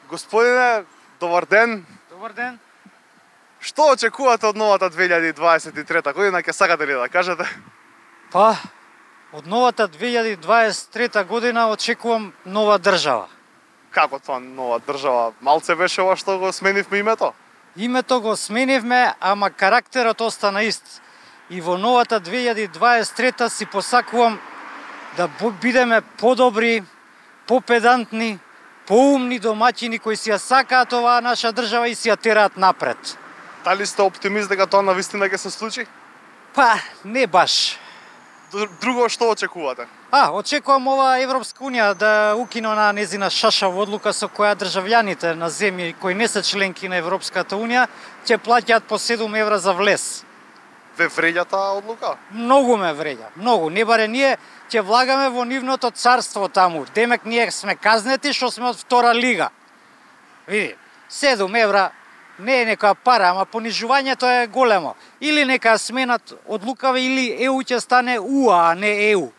Господине, добар ден. Добар ден. Што очекувате од новата 2023 година, ќе сакате ли да кажете? Па, од новата 2023 година очекувам нова држава. Како тоа нова држава? Малце беше ова што го сменивме името? Името го сменивме, ама карактерот остана ист. И во новата 2023 си посакувам да бидеме подобри, попедантни, поумни домаќини кои си ја сакаат оваа наша држава и си ја тераат напред. Дали сте оптимист дека тоа навистина ќе се случи? Па, не баш. Друго што очекувате? Очекувам ова Европска унија да укине на незина шашава одлука со која државјаните на земји кои не се членки на Европската унија ќе плаќаат по 7 евра за влез. Ве вреѓа таа одлука? Многу ме вреѓа, многу. Не баре ние ќе влагаме во нивното царство таму. Демек ние сме казнети што сме од втора лига. Види, 7 евра не е некоја пара, ама понижувањето е големо. Или нека сменат одлукава или ЕУ ќе стане УА, а не ЕУ.